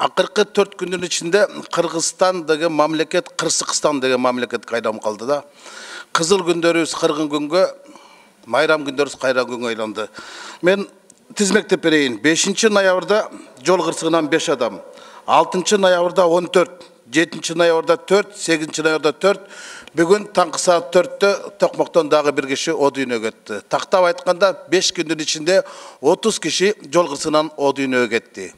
акыркы 4 күндүн ичинде Кыргызстан деген мамлекет Кырсыкстан деген мамлекетке айланып калды да. Кызыл күндөрүбүз кыргын күнгө, майрам күндөрүбүз кайран күнгө айланды. Мен тизмектеп берейин. 5 ноябрда жол кырсыгынан 5 адам, 6 ноябрда 14, 7 ноябрда 4, 8 ноябрда 4, бүгүн таңкы саат 4-тө Токмоктон дагы бир киши о дүйнөгө кетти. Тактап айтканда 5 күндүн ичинде 30 киши жол кырсыгынан о дүйнөгө кетти.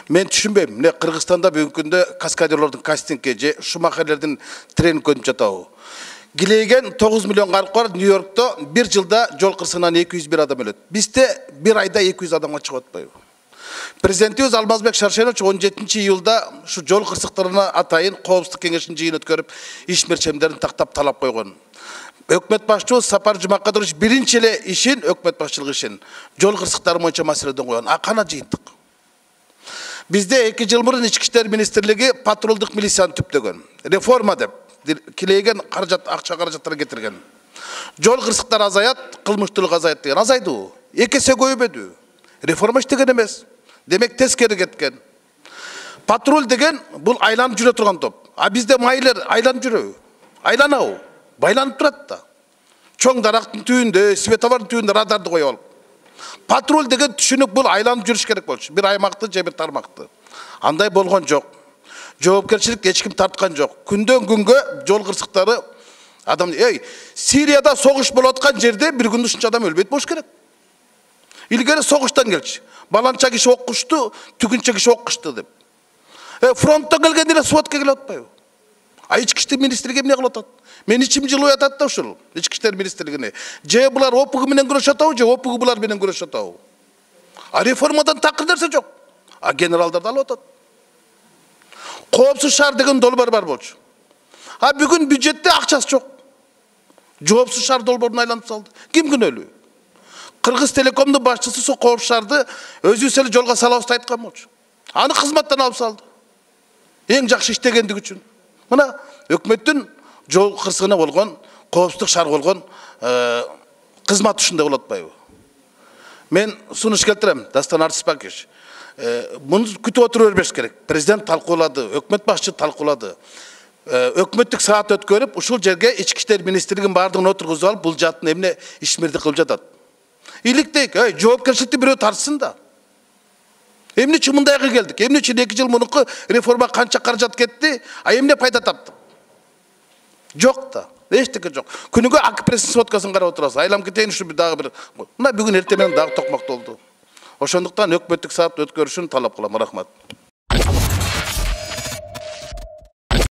Мен түшүнбөйм, эмне Кыргызстанда бүгүнкү күндө каскадерлордун кастингге же шумахерлердин тренингге өтүп жатабы? Гилейген 9 миллион калк бар, Нью-Йоркто бир жылда жол кырсыгынан 201 адам өлөт. Бизде бир айда 200 адамга чыгып атпайбы? Президентибиз Алмазбек Шаршенович 17 июлда ушу жол кырсыктарына атайын коопсуздук кеңешинин жыйын өткөрүп, иш мерчемдерин тактап талап койгон. Өкмөт башчыбыз Сапар Жумакадырович биринчи эле ишин, өкмөт башчылыгы ишин жол кырсыктары боюнча маселеден койгон. А кана жыйынтык? Бизде 2 жыл мурун Ички иштер министрлиги патрулдук милицияны түптөгөн. Реформа деп килейген акча каражаттарын кетирген. Жол кырсыктары азаят, кылмыштуулук азаят деген. Азайдыбы? 2 эсе көбөйбөдү. Реформа иштеген эмес. Демек тескери кеткен. Патруль деген бул айланып жүрө турган топ. А бизде майлер айланып жүрөбү? Айланабы? Байланып турат да. Чоң дарактын түбүндө, светофордун түбүндө радарды коюп алып. Патруль деген түшүнүк бул айланып жүрүш керек болчу. Бир аймакты же бир тармакты. Андай болгон жок. Жоопкерчилик эч ким тарткан жок. Күндөн күнгө жол кырсыктары адам Сирияда согуш болуп аткан жерде бир күндө ушунча адам өлбөйт болуш керек. Илгери согуштан келчи. Баланча киши оккушту, түгүнчө киши оккушту деп. Фронттон келгенде эле сводка келип атпайбы? А ички иштер министрлиги эмне кылып атат? Мен ичим жылып атат да ушул ички иштер министрлигине. Же булар ОПГ менен күрөшүп атабы, же ОПГ булар менен күрөшүп атабы? А реформадан такыр нерсе жок. А генералдарды алып атат. Коопсуз шаар деген долбоор бар болчу. А бүгүн бюджетте акчасы жок. Жоопсуз шаар долбоорун айланып салды. Ким күнөөлүү? Кыргыз Телекомдун башчысы со коопсуз шаарды өзүбүз эле жолго салабыз деп айткан болчу. Аны кызматтан алып салды. Эң жакшы иштегендиги үчүн. Мына өкмөттүн жол кырсыгына болгон, коопсуздук шаар болгон кызмат ушундай болот атпайбы? Мен сунуш келтирем, Дастан Артисбекович. Муну күтүп отура бербеш керек. Президент талкуулады, өкмөт башчы талкуулады. Өкмөттүк саат өткөрүп, ушул жерге ички иштер министрлигинин баардыгын отургузуп алып, бул жатын эмне ишмердик кылып жатат. Иликтейк, жоопкерчиликти бирөө тартсын да. Эмне үчүн мындайга келдик? Эмне үчүн 2 жыл мурунку реформа канча каражат кетти, а эмне пайда таптык? Жок да. Эчтеке жок. Күнүгө АК-пресстин сводкасын карап отурасыз. Айлам кетейин ушу дагы бир. Мына бүгүн эртең менен дагы Токмокто болду. Ошондуктан өкмөттүк саат өткөрүшүн талап кылам. Рахмат.